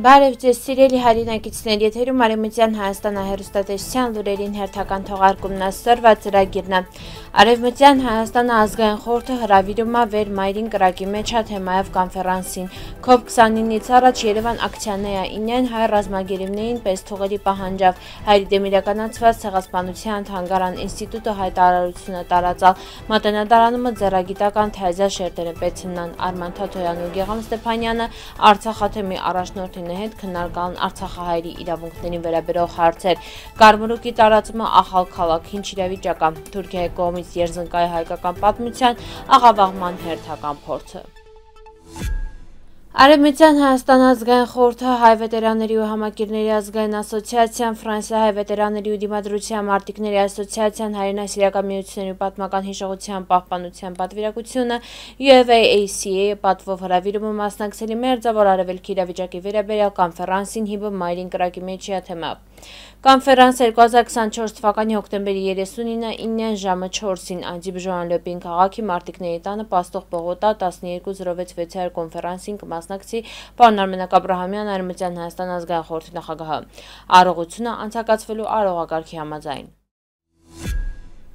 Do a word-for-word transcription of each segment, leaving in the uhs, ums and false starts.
Բարև ձեզ սիրելի հայրենակիցներ, եթերում Արևմտյան Հայաստանը հեռուստատեսության լուրերին հերթական թողարկումն է սրված ծրագիրն է։ Արևմտյան Հայաստանը ազգային խորհուրդը հրավիրում է վեր մայրին կրակի մեջ է թեմայով կոնֆերանսին։ Քոբ քսանինից առաջ Երևան ակցիաներ է ինեն հայ ռազմագերիվներին պես թողերի պահանջավ հայրի դեմ իրականացված ցեղասպանության թանգարան ինստիտուտը հայտարարությունը տարածալ մատենադարանում ձեռագիտական թեզա շերտերը պետցնան Արման Թաթոյանն ու Գեգամ Ստեփանյանը Արցախաթեմի առաջնորդին հետ քննարկան Արցախահայերի իրավունքներին վերաբերող հարցեր։ Կարմրուկի տարածումը ախալ քաղաք ինչ իրավիճակ է։ Թուրքիայի կողմից երզնկայ հայկական պատմության աղավաղման հերթական փորձը։ Արևմտյան Հայաստան ազգային խորհուրդը հայ վետերանների ու համակիրների ազգային ասոցիացիան, Ֆրանսիա հայ վետերանների ու դիմադրության մարտիկների ասոցիացիան, հայրենասիրական միությունների ու պատմական հիշողության պահպանության պատվիրակությունը, յու էֆ էյ էյ սի էյ-ը պատվով հրավիրումը մասնակցելի մերձավոր արևելքի իրավիճակի վերաբերյալ կոնֆերանսին հիբը մայրին կրակի մեջի թեմայով։ Կոնֆերանս երկու հազար քսանչորս թվականի հոկտեմբերի երեսունինը ժամը չորսին Անդիբժոան Լոպին քաղաքի մարտիկների տանը Պաստող Պողոտա տասնյոթ զրո վեց վեցյալ կոնֆերանսին կմասնակցի պարոն Արմենակ Աբրահամյան, Արևմտյան Հայաստան ազգային խորհրդի նախագահը։ Արարողությունը անցկացվելու արարողակարգի համաձայն։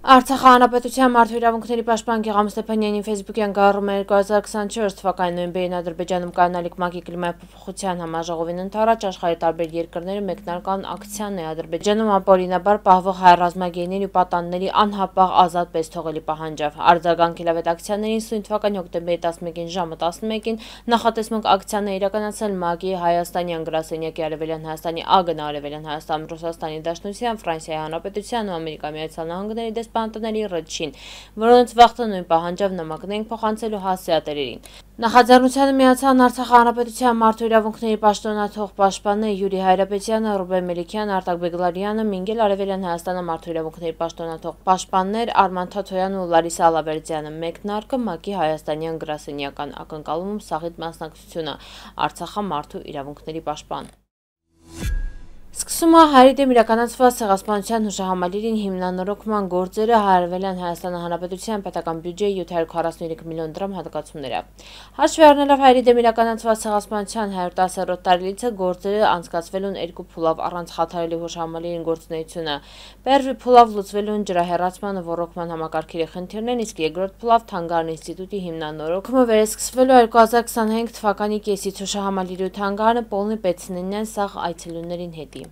Արցախ հանրապետության մարդու իրավունքների պաշտպան Գեգամ Ստեփանյանի ֆեյսբուքյան գարումը երկու հազար քսանչորս թվականի նոյեմբերին Ադրբեջանում կայանալիք ՄԱԿ-ի կլիմայի փոփոխության համաժողովին ընթരാճ աշխարհի տարբեր երկրները մեկնարկան ակցիան է Ադրբեջանում ապօրինաբար պահվող հայ ռազմագերիների ու պատանների անհապաղ ազատ պես թողելի պահանջավ։ Արձագանք ելավետ ակցիաներին սույն թվականի հոկտեմբերի տասնմեկին ժամը տասնմեկին նախատեսմունք ակցիաներ իրականացնել ՄԱԿ-ի Հայաստանյան գրասենյակի Արևելյան Հայաստանի ԱԳՆ Արևելյան Հայաստան Ռուսաստանի Դաշնության Ֆրանսիայի Հանրապետության ու Ամերիկայի Միացյալ Նահանգների դեսպանատների ռեջին, որոնց վաղտը նույն պահանջավ նամակներ փոխանցելու հասցեատերերին։ Նախաձեռնությանը միացան Արցախ հանրապետության մարդու իրավունքների պաշտոնաթող պաշտպաններ Յուրի Հայրապետյանը, Ռուբեն Մելիքյանը, Արտակ Բեգլարյանը, Մինգել Արևելյան Հայաստանը մարդու իրավունքների պաշտոնաթող պաշտպաններ Արման Թաթոյանը ու Լարիսա Ալավերդյանը։ Մեկնարկը ՄԱԿ-ի Հայաստանյան գրասենյական ակնկալումում սաղիթ մասնակցությունը Արցախի մարդու իրավունքների պաշտպան։ Սկսում է հայերի դեմ իրականացված ցեղասպանության հուշահամալիրին հիմնանորոգման գործերը Արևելյան Հայաստանի Հանրապետության պետական բյուջեի յոթ հարյուր քառասուներեք միլիոն դրամ հատկացումները։ Հաշվի առնելով հայերի դեմ իրականացված ցեղասպանության հարյուր տասերորդ տարելիցը գործերը անցկացվելուն երկու փուլով առանց խաթարելի հուշահամալիրին գործունեությունը։ Первый փուլով լուծվելուն ջրահեռացման ու ռոռոկման համակարգերի խնդիրներն, իսկ երկրորդ փուլով Թանգարան ինստիտուտի հիմնանորոգումը վերսկսվելու երկու հազար քսանհինգ թվականի կեսից հուշահամալիրի ու Թանգարանը պոլնի պետցնինեն սաղ այցելուներին հետի։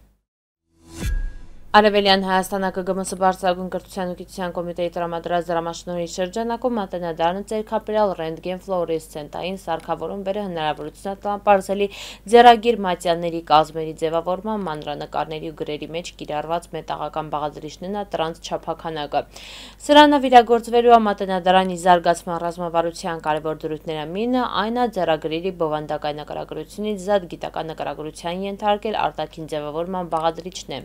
Արևելյան Հայաստանը ԿԳՄՍ բարձրագույն կրթության ու գիտության կոմիտեի տրամադրած դրամաշնորհի շրջանակում մատենադարանը ձեռքապերյալ ռենտգեն ֆլորեսցենտային սարքավորում բերը հնարավորություն տալապարզելի ձեռագիր մատյանների կազմերի ձևավորման մանրանկարների ու գրերի մեջ կիրառված մետաղական բաղադրիչներն տրանս չափաքանակը։ Սրանը վիրագործվելու մատենադարանի զարգացման ռազմավարության կարևոր դրույթները մինը այն է ձեռագրերի բովանդակային նկարագրությունից զատ գիտական նկարագրության ենթարկել արտաքին ձևավորման բաղադրիչն է։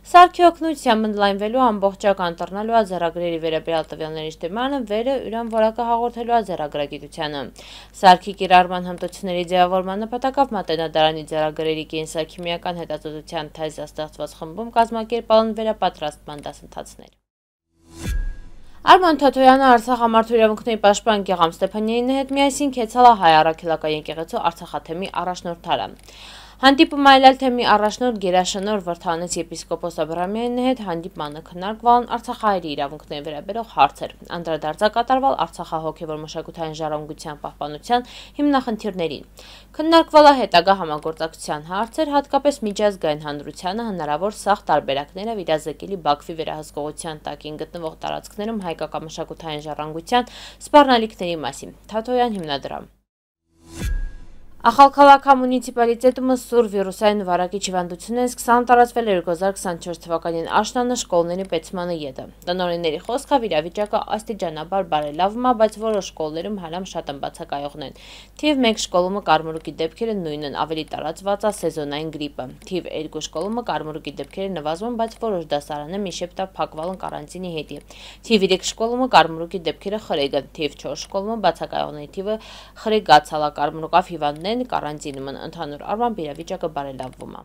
Սարքի օգնությամբ ընդլայնվելու ամբողջական տրնալու է ձեռագրերի վերաբերյալ տվյալների շտեմարանը վերը ուրան որակը հաղորդելու է ձեռագրագիտությանը։ Սարքի կիրառման հմտությունների ձևավորման նպատակով մատենադարանի ձեռագրերի կենսաքիմիական հետազոտության թեզա ստեղծված խմբում կազմակերպալն վերապատրաստման դասընթացներ։ Արման Թաթոյանը Արցախ մարդու իրավունքների պաշտպան Գեգամ Ստեփանյանի հետ միասին կեցալ է հայ առաքելական եկեղեցու Արցախաթեմի առաջնորդարը։ Հանդիպում այլել թեմի առաջնորդ Գերաշնոր Վրթանից եպիսկոպոս Աբրահամյանի հետ հանդիպմանը քննարկվան Արցախահայերի իրավունքների վերաբերող հարցեր, անդրադարձ կատարվել Արցախահոգևոր մշակութային ժառանգության պահպանության հիմնախնդիրներին։ Քննարկվել է հետագա համագործակցության հարցեր, հատկապես միջազգային հանրությանը հնարավոր սաղ տարբերակները իրազեկելի Բաքվի վերահսկողության տակին գտնվող տարածքներում հայկական մշակութային ժառանգության սպառնալիքների մասին։ Թաթոյան հիմնադրամ։ Ախալքալաքա մունիցիպալիտետումը սուր վիրուսային վարակիչ հիվանդությունն սկսան տարածվել երկու հազար քսանչորս թվականին աշնանը շկոլների պետցմանը ետը։ Տնօրենների խոսքով իրավիճակը աստիճանաբար բարելավում է, բայց որոշ շկոլներում հալամ շատ բացակայողն են։ Թիվ մեկ շկոլումը կարմրուկի դեպքերը նույնն ավելի տարածված է սեզոնային գրիպը։ Թիվ երկու շկոլումը կարմրուկի դեպքերը նվազում, բայց որոշ դասարանը մի շեպտա փակվալն կարանտինի հետի։ Թիվ երեք շկոլումը կարմրուկի դեպքերը խրեգը։ Թիվ չորս շկոլումը բացակայողների թիվը խրեգացալ է կարմրուկավ հիվանդներ կարանտինում են, ընդհանուր առմամբ իրավիճակը բարելավվում է։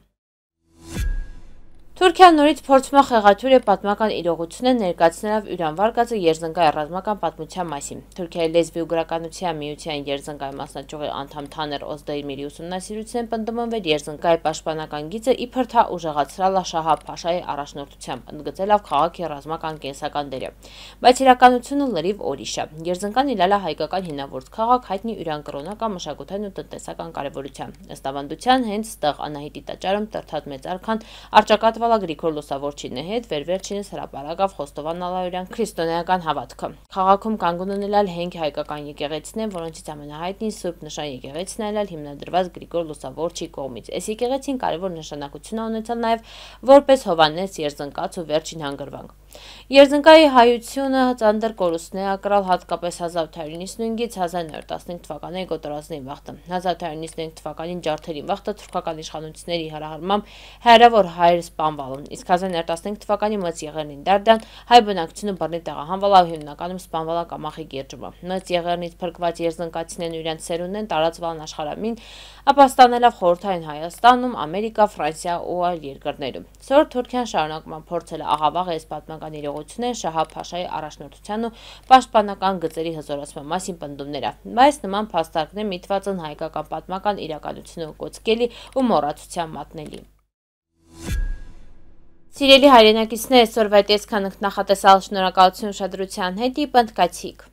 Թուրքիան նորից փորձում է խեղաթյուրի պատմական իրողությունը ներկայացնելով Իրան վարկածը երզնկայ ռազմական պատմության մասին։ Թուրքիայի լեզվի ու գրականության միության երզնկայ մասնաճյուղի անդամ Թաներ Օզդեյմիրի ուսումնասիրության պնդումն երզնկայ պաշտպանական գիծը իբր թա ուժեղացրել է Շահաբ Փաշայի առաջնորդությամբ, ընդգծելով քաղաքի ռազմական կենսական դերը։ Բայց իրականությունը լրիվ ուրիշ է։ Երզնկան իլալա հայկական հինավուրց քաղաք հայտնի Իրան կրոնական, մշակութային ու տնտեսական կարևորությամբ։ Ըստ ավանդության հենց ստեղ Անահիտի տաճարում տրթած մեծ արքան արճակատվալա Գրիգոր Լուսավորչինի հետ վերվերջինս հրապարակավ Խոստովան Ալավերյան քրիստոնեական հավատքը։ Քաղաքում կանգուն ունենալ հենք հայկական եկեղեցին, որոնցից ամենահայտնին Սուրբ Նշան եկեղեցին այլալ հիմնադրված Գրիգոր Լուսավորչի կողմից։ Այս եկեղեցին կարևոր նշանակություն է ունեցել նաև որպես Հովհաննես Երզնկաց ու վերջին հանգրվանք։ Երզնկայի հայությունը ծանր կորուստներ է կրալ հատկապես հազար ութ հարյուր նվաթից հազար նորը տասնհինգ թվականների գոտորածների վաղտը։ հազար ութ հարյուր նվաթ թվականին ջարդերի վաղտը թուրքական իշխանությունների հրահրմամբ հեռավոր հայեր սպանվալն, իսկ հազար նորը տասնհինգ թվականի Մեծ Եղեռնին դարդան հայ բնակչությունը բռնի տեղահանվալավ հիմնականում սպանվալա Կամախի գերջումը։ Մեծ Եղեռնից փրկված երզնկացիներն ու իրենց սերունդներն տարածվան աշխարհամին, ապա ստանալով խորհրդային Հայաստանում, Ամերիկա, Ֆրանսիա ու այլ երկրներում։ Սոր Թուրքիան շարունակում է փորձել աղավաղ այս պատմական իրողությունները Շահաբ Փաշայի առաջնորդության ու պաշտպանական գծերի հզորացման մասին պնդումները, բայց նման փաստարկներ միտված են հայկական պատմական իրականությունը կոծկելի ու մոռացության մատնելի։ Սիրելի հայրենակիցներ, այսօրվա այդ այսքան նախատեսալ, շնորհակալություն ուշադրության հետ, պնդկացիք։